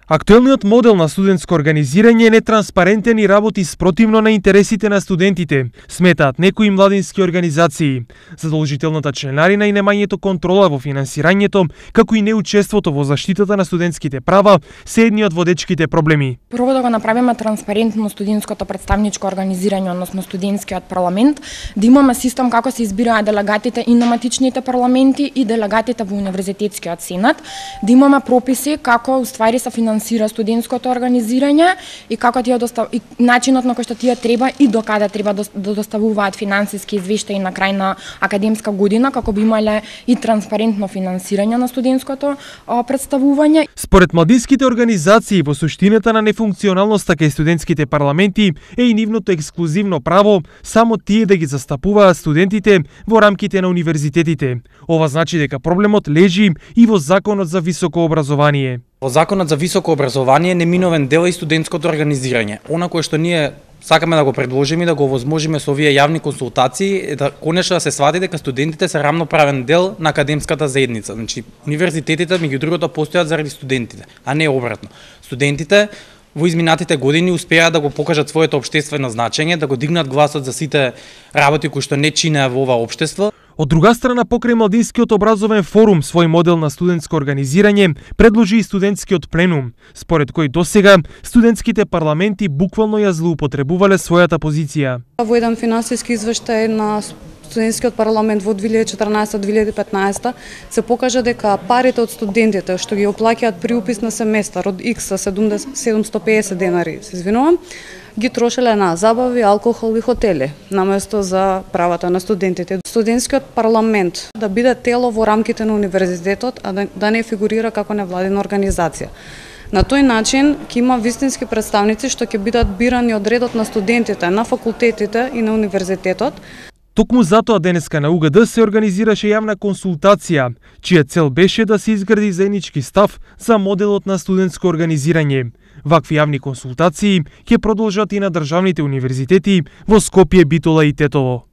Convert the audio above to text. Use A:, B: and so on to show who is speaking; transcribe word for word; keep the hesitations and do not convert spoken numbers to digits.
A: Актуелниот модел на студентско организирање е нетранспарентен и работи спротивно на интересите на студентите, сметаат некои младински организации. Задолжителната членарина и немањето контрола во финансирањето, како и неучеството во заштитата на студентските права, се едни од водечките проблеми.
B: Прво да го направиме транспарентно студентското представничко организирање, односно студентскиот парламент, да имаме систем како се избираат делегатите и на матичните парламенти и делегатите во универзитетскиот сенат, да имаме прописи како уствари се финансираат финансира студентското организирање и како тие достав... и начинот на кој што тие треба и до каде треба да доставуваат финансиски извештаи на крај на академска година, како би имале и транспарентно финансирање на студентското представување.
A: Според младинските организации, во суштината на нефункционалноста кај студентските парламенти е и нивното ексклузивно право само тие да ги застапуваат студентите во рамките на универзитетите. Ова значи дека проблемот лежи и во Законот за високо образование.
C: Во Законот за високо образование неминовен дел е и студентското организирање. Она кое што ние сакаме да го предложиме и да го овозможиме со овие јавни консултации е да конечно да се свати дека студентите се рамноправен дел на академската заедница. Значи универзитетите меѓу другото постојат заради студентите, а не обратно. Студентите во изминатите години успеа да го покажат своето општествено значење, да го дигнат гласот за сите работи кои што не чинеа во ова општество.
A: Од друга страна, покрај Младинскиот образовен форум, свој модел на студентско организирање предложи и студентскиот пленум, според кој досега студентските парламенти буквално ја злоупотребувале својата позиција.
D: Во еден финансиски извештај на студентскиот парламент во две илјади и четрнаесета - две илјади и петнаесета се покажа дека парите од студентите што ги оплаќаат при упис на семестар од Икс седумстотини и песет денари, се извинувам, ги трошеле на забави, алкохол и хотели, наместо за правата на студентите. Студентскиот парламент да биде тело во рамките на универзитетот, а да, да не фигурира како невладина организација. На тој начин ќе има вистински представници што ќе бидат бирани од редот на студентите, на факултетите и на универзитетот.
A: Токму затоа денеска на У Г Д се организираше јавна консултација, чија цел беше да се изгради заеднички став за моделот на студентско организирање. Вакви јавни консултации ќе продолжат и на државните универзитети во Скопје, Битола и Тетово.